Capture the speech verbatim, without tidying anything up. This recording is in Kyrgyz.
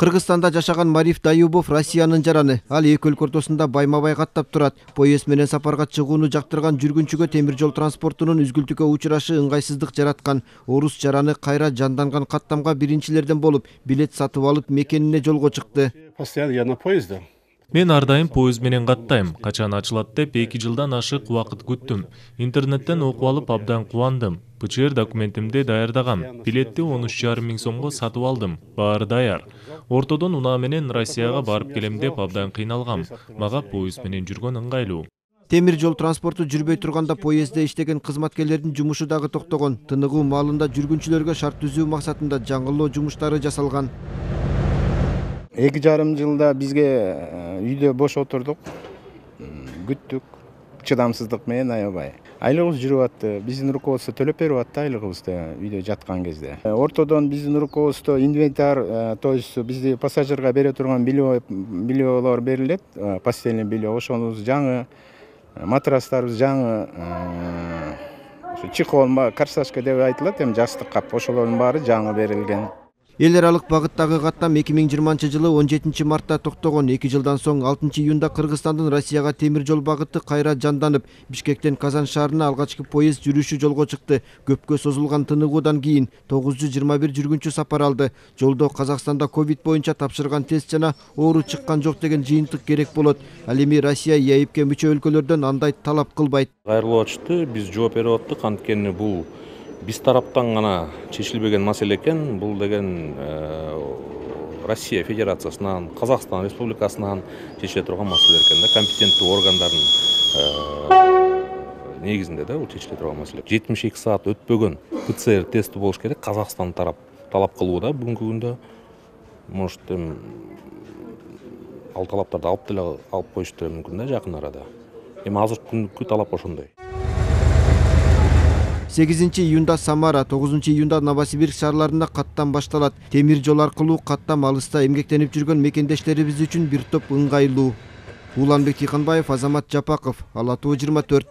Кыргызстанда жашаган Мариф Даюбов Россиянын жараны. Ал эки өлкө ортосунда байма-бай каттап турат. Поезд менен сапарга чыгууну жактырган жүргүнчүгө темир жол транспортунун үзгүлтүккө учурашы ыңгайсыздык жараткан. Орус жараны кайра жанданган каттамга биринчилерден болуп, билет сатып алып мекенине жолго чыкты. Постоянно я на поезде. Мен ар дайым поезд менен каттайм. Качан ачылат деп эки жылдан ашык убакыт күттүм. Интернеттен окуп алып абдан кубандым. ПЧР документимди даярдагам. Билетти он үч жарым миң сомго сатып алдым. Баары даяр. Ортодон унаа менен Россияга барып келем деп абдан кыйналгам. Мага поезд менен жүргөн ыңгайлуу. Темир жол транспорту жүрбөй турганда поездде иштеген кызматкерлердин жумушу дагы токтогон. Тыныгуу маалында жүргүнчүлөргө шарт түзүү максатында жаңылоо жумуштары жасалган. Эки жарым жылда бизге үйдө бош отурдук, күттүк, чыдамсыздык менен аябай. Айлыгыбыз жүрүп атты, биздин руководство төлөп берип атты айлыгыбызды үйдө жаткан кезде. Ортодон биздин руководство инвентарь, то есть бизди пассажирга бере турган бельелор берилет, постельный белье, ошонубуз жаңы, матрастарыбыз жаңы, чехол, корсажка деп айтылат, эми жастык кап, ошолордун баары жаңы берилген. Эл аралык багыттагы каттам эки миң жыйырманчы жылы он жетинчи мартта токтогон. эки жылдан соң алтынчы июнда Кыргызстандын Россияга темир жол багыты кайра жанданып, Бишкектен Казан шаарына алгачкы поезд жүрүшү жолго чыкты. Көпкө созулган тыныгуудан кийин тогуз жүз жыйырма бир жүргүнчү сапар алды. Жолдо Казакстанда ковид боюнча тапшырган тест жана оору чыккан жок деген жыйынтык керек болот. Ал эми Россия ЕАИБке мүчө өлкөлөрдөн андай талап кылбайт. Кайрылып атышты, биз жооп берип аттык, анткени бул биз тараптан гана чечилбеген маселе экен. Бул деген Россия Федерациясынан, Казакстан Республикасынан чечиле турган маселе экен да, компетенттүү органдардын негизинде да бул чечиле турган маселе. жетимиш эки саат өтпөгөн ПЦР тести болуш керек. Казакстан тарап талап кылууда бүгүнкү күндө. Может, эми ал талаптарды алып деле алып коюшту мүмкүн да жакын арада. Эми азыркы күндүккү талап ошондой. сегизинчи июнда Самара, тогузунчу июнда Новосибирск шаарларында каттам башталат. Темир жол аркылуу каттам алыста эмгектенип жүргөн мекендештерибиз үчүн бир топ ыңгайлуу. Уланбек Тыйканбаев, Азамат Жапаков, Ала Тоо жыйырма төрт.